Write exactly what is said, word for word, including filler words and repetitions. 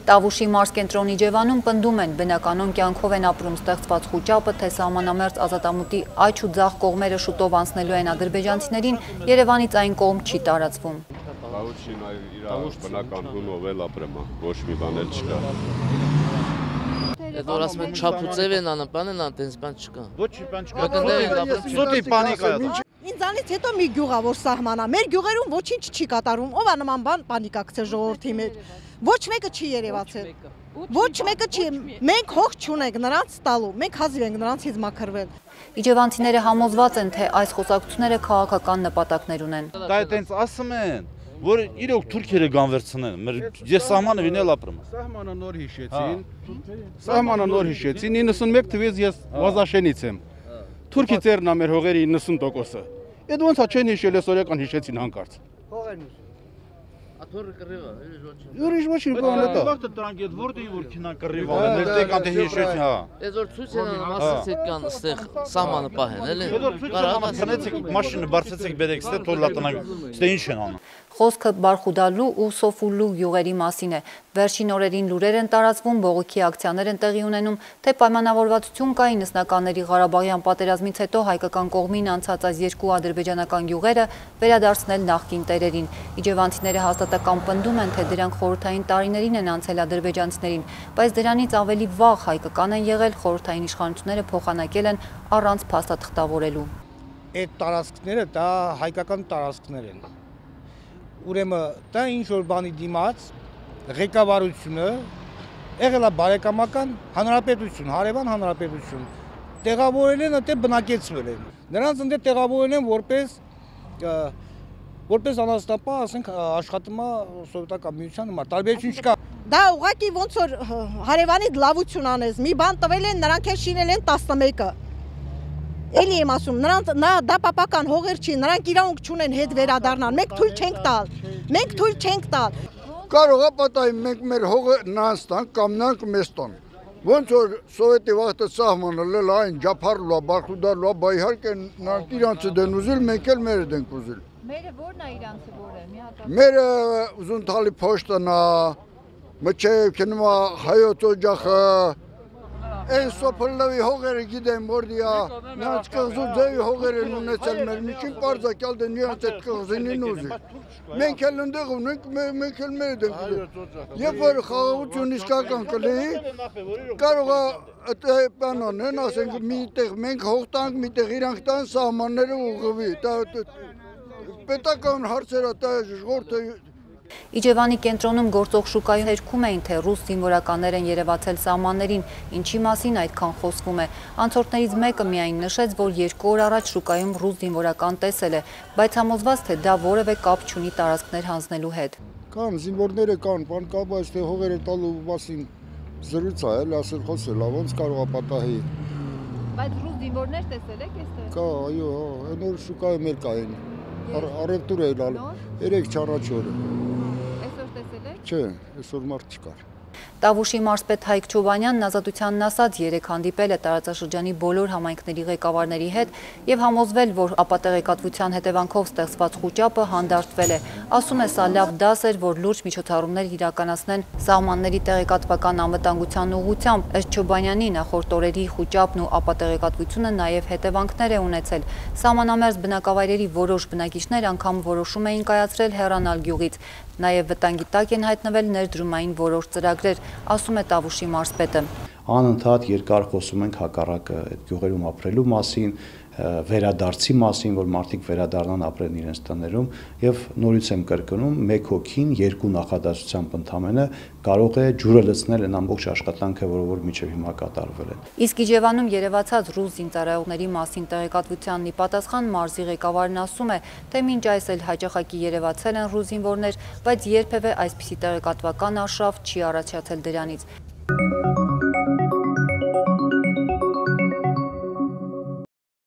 Տավուշի մարզ կենտրոնի Իջևանում պնդում են, բնականոն կյանքով են ապրում ստեղծված խուճապը, թե սահմանամերձ ազատամուտի աջ ու ձախ կողմերը շուտով անցնելու են ադրբեջանցիներին, Երևանից այն կողմ չի տարածվում։ Տավուշին իր բնական հունով էլ ապրեմ, ոչ մի բան էլ չկա։ Այդ որ ասում են չափուծև են անում, բան են անում, տենց բան չկա։ Ոչ բան չկա։ Սուտի պանիկա է։ Ինձանից հետո մի գյուղ է, որ սահմանա։ Մեր գյուղերում ոչինչ չի կատարվում։ Ով է նման բան պանիկա գցել ժողովրդի մեջ։ Ոչ մեկը չի երևացել։ Ոչ մեկը չի։ Մենք հող չունենք նրանց տալու։ Մենք հազիվ ենք նրանցից մաքրվել։ Իջևանցիները համոզված են, թե այս խոսակցությունները քաղաքական նպատակներ ունեն։ Դա այդպես ասում են, որ իրոք թուրքերը գանվերցնեն։ Ես սահմանը վինել ապրում։ Սահմանը նոր հիշեցին։ Սահմանը նոր հիշեցին։ իննսունմեկ թվականից ես Վազաշենից եմ։ Թուրքի ծերն է մեր հողերի իննսուն տոկոսը։ Այդ ոնց է չեն հիշել, այսօրական հիշեցին հանկարծ։ Հողերն Աթորը կռիվա, ուրիշ ոչինչ բան է դա։ Վաղտը դրանք այդ որտեղ որ քինա կռիվա, ներտեղ կանտե հիշեցին, հա։ Այս որ ցույց են ասացեք կան այստեղ սահմանը պահեն, էլի։ Կարողա ցնեցեք մաշինը բարձեցեք բերեք, ստե թոլա տնակ, ստե ինչ են անում։ Խոսքը Բարխուդալու ու Սոֆուլու գյուղերի մասին է։ Վերջին օրերին լուրեր են տարածվում, բողոքի ակցիաներ են տեղի ունենում, թե պայմանավորվածություն կա իննսնականների Ղարաբաղյան պատերազմից հետո հայկական կողմին անցած այս երկու ադրբեջանական գյուղերը վերադարձնել նախկին տերերին։ Իջևանցիները հաստատակամ պնդում են, թե դրանք խորհրդային տարիներին են անցել ադրբեջանցիներին, բայց դրանից ավելի վաղ հայկական են եղել, խորհրդային իշխանությունները փոխանակել են առանց փաստաթղթավորելու։ Այդ տարածքները դա հայկական տարածքներ են։ Ուրեմն դա ինչ որ բանի դիմաց ղեկավարությունը եղել է բարեկամական հանրապետություն, հարևան հանրապետություն, տեղավորել են, այդտեղ բնակեցվել են։ Նրանց ընդ տեղավորել են որպես որպես անաստապա, ասենք աշխատում է սովետական միության համար, տարբերություն չկա։ Դա ուղղակի ոնց որ հարևանից լավություն անես, մի բան տվել են, նրանք էլ շինել են տասնմեկը։ Էլի եմ ասում, նրանց դա պապական հողեր չի, նրանք իրավունք չունեն հետ վերադառնալ, մենք թույլ չենք տալ, մենք թույլ չենք տալ։ Կարող է պատահի մենք մեր հողը նրանց տանք կամ նրանք մեզ տան։ Ոնց որ սովետի վաղտը սահմանել այն ջափարլու է, Բարխուդալու է, բա իհարկե նրանք իրանցը դեն ուզել, մենք էլ մերը դենք ուզել։ Մերը ո՞րն է իրանցը որը, մի հատ։ Մերը Ուզունթալի փոշտն է, մչև քնում է հայոց օջախը։ Այն սոփլավի հողերը գիտեմ որդիա, նրանց կղզու ձևի հողեր են ունեցել մեր միջին պարզակյալ դեն նրանց այդ կղզինին ուզի։ Մենք էլ ընդեղ ունենք, մենք էլ մեր դենք ուզի։ Եվ որ խաղաղություն իսկական կլեի, կարող է պանոն են, ասենք միտեղ մենք հող տանք, միտեղ իրանք տան սահմանները ուղղվի, պետական հարցերը դա ժողովուրդը Իջևանի կենտրոնում գործող շուկայում հերքում էին, թե ռուս զինվորականներ են երևացել սահմաններին, ինչի մասին այդքան խոսվում է։ Անցորդներից մեկը միայն նշեց, որ երկու օր առաջ շուկայում ռուս զինվորական տեսել է, բայց համոզված, թե դա որևէ կապ չունի տարածքներ հանձնելու հետ։ Կան զինվորները կան, բան կա, բայց թե հողերը տալու մասին զրույց է, էլ ասել խոսել, ոնց կարող է պատահի։ Բայց ռուս զինվորներ տեսել եք այստեղ։ Կա, այո, այն օր շուկայում էլ կային։ Առևտուր է լալ, երեք չառաջ օրը։ Այսօր տեսել եք։ Չէ, այսօր մարդ չկար։ Տավուշի մարզպետ Հայկ Չոբանյանն ազատությանն ասաց երեք հանդիպել է տարածաշրջանի բոլոր համայնքների ղեկավարների հետ եւ համոզվել, որ ապատեղեկատվության հետևանքով ստեղծված խուճապը հանդարտվել է։ Ասում է, սա լավ դաս էր, որ լուրջ միջոցառումներ իրականացնեն սահմանների տեղեկատվական անվտանգության ուղղությամբ։ Ըստ Չոբանյանի նախորդ օրերի խուճապն ու ապատեղեկատվությունը նաեւ հետևանքներ է ունեցել։ Սահմանամերձ բնակավայրերի որոշ բնակիչներ անգամ որոշում էին կայացրել հեռանալ գյուղից։ Նաև վտանգի տակ են հայտնվել ներդրումային որոշ ծրագրեր, ասում է Տավուշի մարզպետը։ Անընդհատ երկար խոսում ենք հակառակը այդ գյուղերում ապրելու մասին, վերադարձի մասին, որ մարդիկ վերադառնան ապրեն իրենց տներում եւ նորից եմ կրկնում, մեկ հոգին երկու նախադասությամբ ընդամենը կարող է ջուրը լցնել այն ամբողջ աշխատանքը, որը որ միջև հիմա կատարվել է։ Իսկ Իջևանում երևացած ռուս զինծառայողների մասին տեղեկատվությանն ի պատասխան մարզի ղեկավարն ասում է, թե մինչ այս էլ հաճախակի երևացել են ռուս զինվորներ, բայց երբևէ այսպիսի տեղեկատվական արշավ չի առաջացել դրանից։